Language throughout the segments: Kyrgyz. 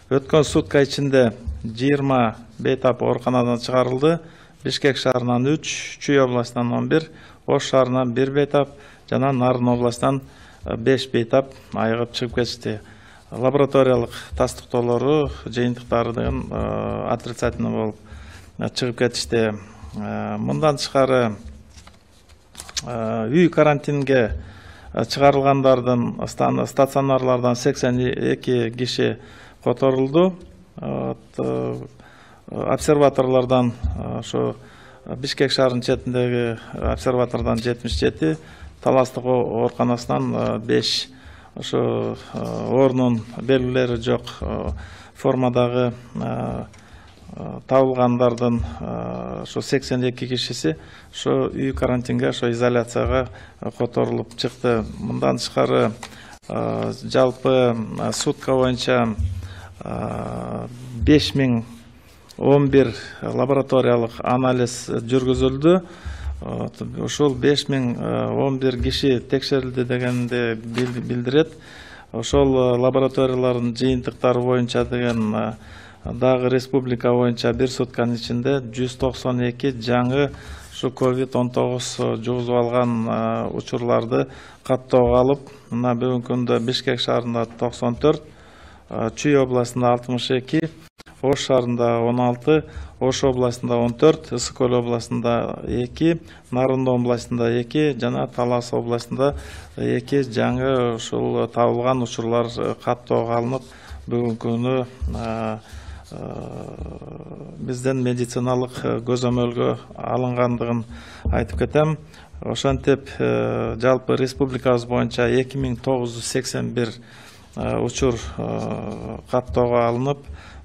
Өткөн сутка ичинде 20 бейтап ооруканадан чыгарылды. Бишкек шаарынан 3, Чүй областынан 11, Ош шаарынан 1 бейтап жана Нарын областынан 5 бейтап айыгып чыгып кетишти. Лабораториялык тастыктоолору жыйынтыктары деген отрицательный болуп чыгып кетишти. Мындан тышкары үй карантинге чыгарылгандардын стационарлардан 82 киши которулду. Обсерваторлордон ошо Бишкек шаарынын четиндеги обсерватордон 77, Таластык ооруканасынан 5 ошо оорунун белгилери жок формадагы табылгандардын ошо 82 кишиси ошо үй карантинге, ошо изоляцияга которулуп чыкты. Мындан тышкары жалпы сутка боюнча 5011 лабораториялык анализ жүргүзүлдү. Ошол 5011 киши текшерилди дегенди билдирет. Ошол лабораториялардын жыйынтыктары боюнча деген дагы республика боюнча бир сутканын ичинде 192 жаңы ушу COVID-19 жугузуп алган учурларды каттоого алып, мына бүгүнкү күндө Бишкек шаарында 94, Чүй областында 62, Ош шаарында 16, Ош областында 14, Ысык Көл областында 2, Нарын областында 2 жана Талас областында 2 жаңы ушул табылган учурлар каттоого алынып, бүгүнкү күнү бизден медициналык көзөмөлгө алынгандыгын айтып кетем. Ошентип жалпы республикабыз боюнча 2981 учур каттоого алынып,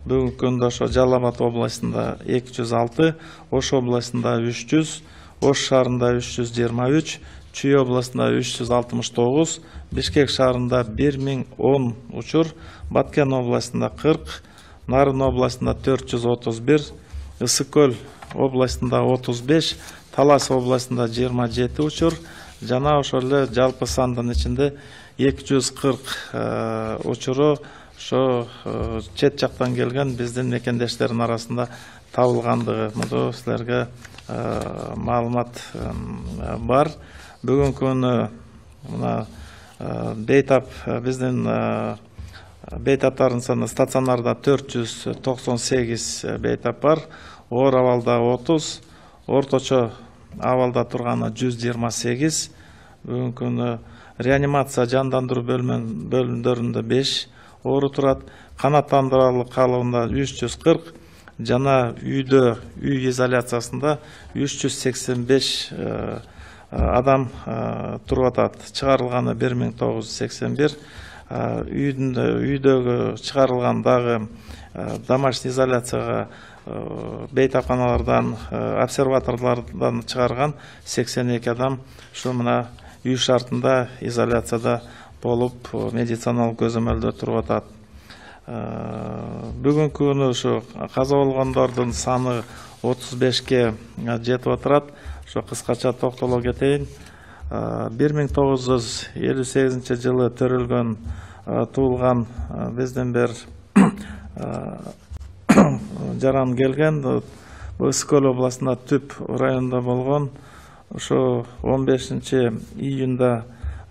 бүгүнкү күндө ошо Жалал Абад областында 206, Ош областында 300, Ош шаарында 323, Чүй областында 369, Бишкек шаарында 1010 учур, Баткен областында 40, Нарын областында 431, Ысык Көл областында 35, Талас областында 27 учур, жана ошол эле жалпы сандын ичинде 240 учуру ошо чет жактан келген биздин мекендештердин арасында табылгандыгы. Муну силерге маалымат бар. Бүгүнкү күнү мына бейтап биздин бейтаптардын саны стационарда 498 бейтап бар, оор абалда 30, орточо абалда турганы 128, бүгүнкү күнү реанимация жандандыруу бөлүмдөрүндө 5 оору турат, канааттандыралык калыбында 340 жана үй изоляциясында 385 адам туруп атат. Чыгарылганы 1981, үйдөгү чыгарылган дагы домашний изоляцияга бейтапканалардан, обсерваторлордон чыгарган 82 адам ушу мына үй шартында изоляцияда болуп медициналык көзөмөлдө туруп атат. Бүгүнкү күнү ушу каза болгондордун саны 35ке жетип отурат. Ошо кыскача токтоло кетейин. 1958 жылы төрөлгөн туулган биздин бир жаран келген, Ысык Көл областында Түп районунда болгон. Ошо 15 июнда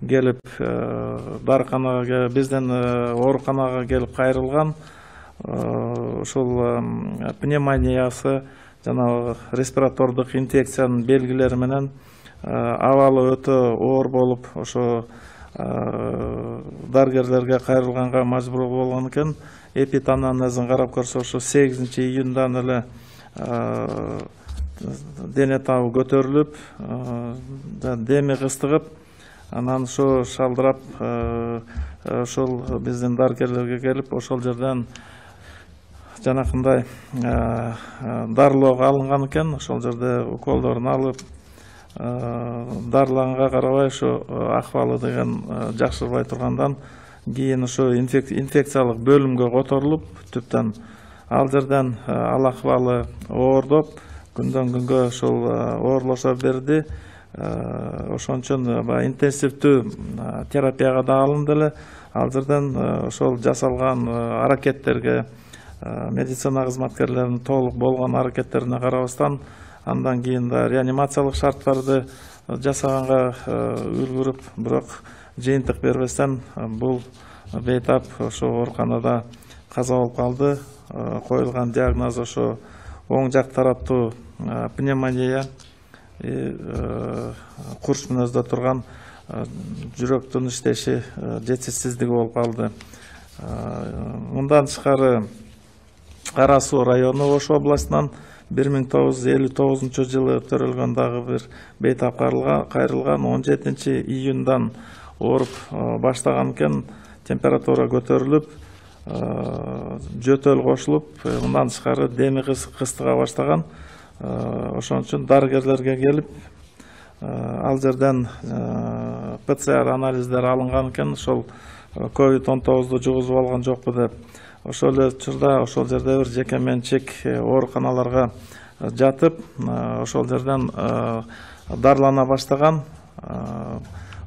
келип дарыканага, бизден ооруканага келип кайрылган. Ушул пневмониясы жана респиратордук инфекциянын белгилери менен абалы өтө оор болуп, ошо дарыгерлерге кайрылганга мажбур болгон экен. Эпитанамнезин карап көрсө, ошо 8 июндан эле дене табы көтөрүлүп, деми кыстыгып, анан ошо шалдырап, ошол биздин дарыгерлерге келип, ошол жерден жанакындай дарылоого алынган экен. Ошол жерде уколдорун алып, дарылаганга карабай ошо акыбалы деген жакшырбай тургандан кийин ошо инфекциялык бөлүмгө которулуп, Түптөн ал жерден ал акыбалы оордоп, күндөн күнгө ошол оорлошо берди. ошон үчүн интенсивдүү терапияга да алынды эле. Ал жерден ошол жасалган аракеттерге, медицина кызматкерлеринин толук болгон аракеттерине карабастан, андан кийин да реанимациялык шарттарды жасаганга үлгүрүп, бирок жыйынтык бербестен бул бейтап ошо ооруканада каза болуп калды. Коюлган диагноз ошо оң жак тараптуу пневмония, курч мүнөздө турган жүрөктүн иштеши жетишсиздиги болуп калды. Мындан тышкары Кара Суу району Ош областынан 1959 жылы төрөлгөн дагы бир бейтап кайрылган 17 июндан ооруп баштаган экен. Температура көтөрүлүп, жөтөл кошулуп, мындан тышкары деми кыстыга баштаган. Ошон үчүн дарыгерлерге келип, ал жерден ПЦР анализдер алынган экен. Ошол COVID-19 жугузуп алган жокпу деп. Ошол эле учурда ошол жерде бир жеке менчик ооруканаларга жатып, ошол жерден дарылана баштаган.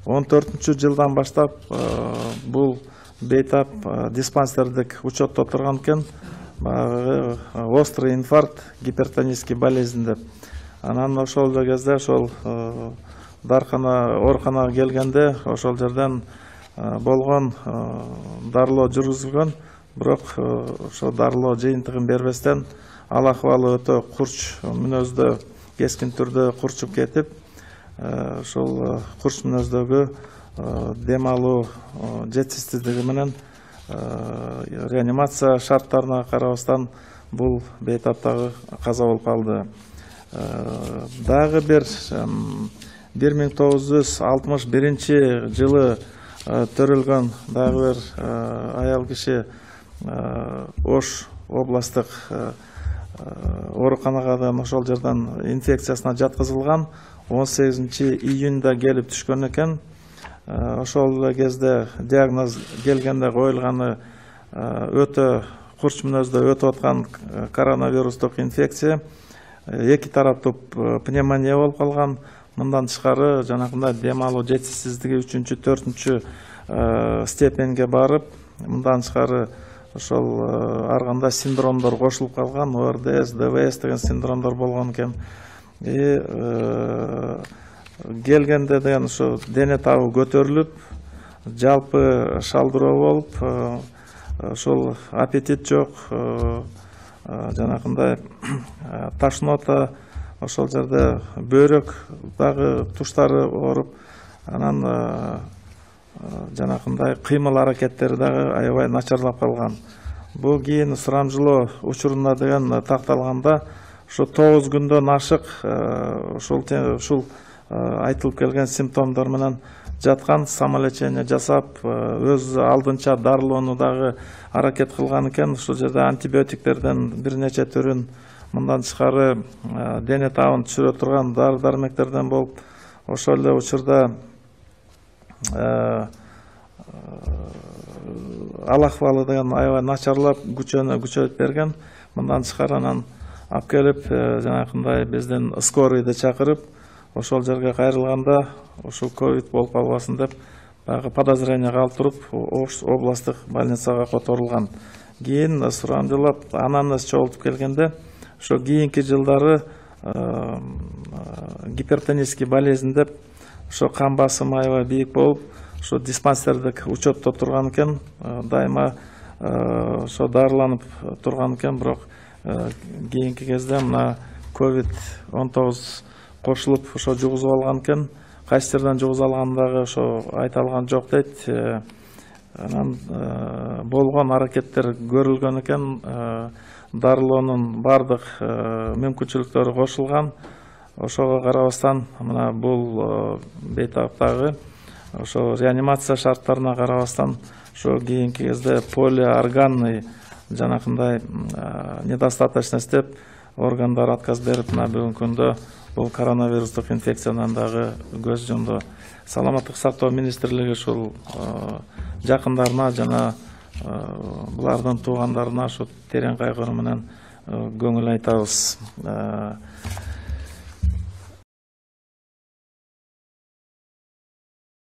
14-жылдан баштап бул бейтап диспансердик учетто турган экен. Острый инфаркт, гипертонический болезнь деп. Анан ошол кезде ошол ооруканага келгенде ошол жерден болгон дарылоо жүргүзүлгөн. Бирок ошо дарылоо жыйынтыгын бербестен ал акыбалы өтө курч мүнөздө, кескин түрдө курчуп кетип, ошол курч мүнөздөгү дем алуу жетишсиздиги менен реанимация шарттарына карабастан бул бейтаптагы каза болуп калды. Дагы бир 1961 жылы төрөлгөн дагы бир аял киши Ош областык ооруканага ошол жерден инфекциясына жаткызылган. 18 июнда келип түшкөн экен. Ошол кезде диагноз келгенде коюлганы өтө курч мүнөздө өтүп аткан коронавирустук инфекция, эки тараптуу пневмония болуп калган. Мындан тышкары жанагындай дем алуу жетишсиздиги 3-4 степенге барып, мындан тышкары ошол ар кандай синдромдор кошулуп калган, ОРДС, ДВС деген синдромдор болгон экен. Келгенде деген ошо дене табы көтөрүлүп, жалпы шалдыроо болуп, ошол аппетит жок, жанагындай тошнота, ошол жерде бөйрөк дагы туштары ооруп, анан жанагындай кыймыл аракеттери дагы аябай начарлап калган. Бул кийин сурамжылоо учурунда деген такталганда ошо 9 күндөн ашык ушул айтылып келген симптомдор менен жаткан, самолечение жасап, өз алдынча дарылоону дагы аракет кылган экен. Ушул жерде антибиотиктерден бир нече түрүн, мындан тышкары дене табын түшүрө турган дары-дармектерден болуп, ошол эле учурда ал акыбалы деген аябай начарлап, күчөнүп берген. Мындан тышкары анан алып келип, жанагындай биздин скорыйды чакырып, ошол жерге кайрылганда, ушул ковид болуп калбасын деп, баягы подозренияга алып туруп, Ош областык больницага которулган. Кийин сурамжылап анамнез чогултуп келгенде, ошо кийинки жылдары гипертонический болезнь деп, ошо кан басымы аябай бийик болуп, ошо диспансердик учетто турган экен, дайыма ошо дарыланып турган экен. Бирок кийинки кезде мына COVID-19 кошулуп ошо жугузуп алган экен. Кайсы жерден жугузуп алгандагы ошо айта алган жок дейт. Анан болгон аракеттер көрүлгөн экен. Дарылоонун бардык мүмкүнчүлүктөрү кошулган. Ошого карабастан мына бул бейтаптагы ошо реанимация шарттарына карабастан ошо кийинки кезде полиорганный жанакындай недостаточность деп органдар отказ берип, мына бүгүнкү күндө бул коронавирустук инфекциядан дагы көз жумду. Саламаттык сактоо министрлиги ушул жакындарына жана булардын туугандарына ошо терең кайгыруу менен көңүл айтабыз.